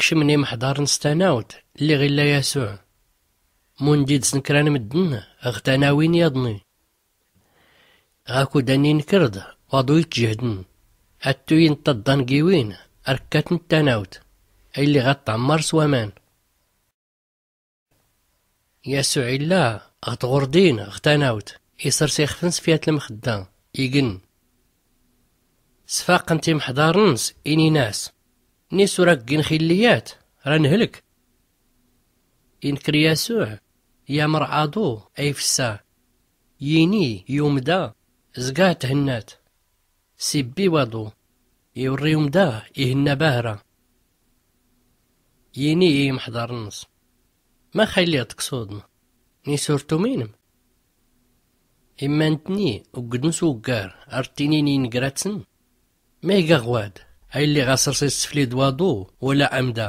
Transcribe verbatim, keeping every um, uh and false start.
Kcmn imḥḍarn s tanawt lliɣ illa yasuɛ. Mund-dd-snkrn mddn ɣ tanawin yaḍni. Ɣakud anni nkr-dd waḍu itjhhdn, attuyin ṭṭaḍḍa n giwin rkkatn tanawt aylli ɣa ṭɛmmar s waman. Yasuɛ illa ɣ tɣurdin ɣ tanawt, isrs ixfn s fyat lmxdda, ign. Sfaqn-t imḥḍarn-ns, inin-as, nisur aggin xilliyat ra nhlk. Inkr yasuɛ, yamr aḍu ayfssa, yini i umda, zga thnnat. Sibbi waḍu, iwrri umda, ihnna bahra. Yini i imḥḍarn-ns, max aylli ɣ tksuḍn? Nisur tuminm? Imma ntni uggdn s uggar ar ttinin i ngratsn. Mayg aɣwad aylli ɣa srsn sfli d waḍu wala amda?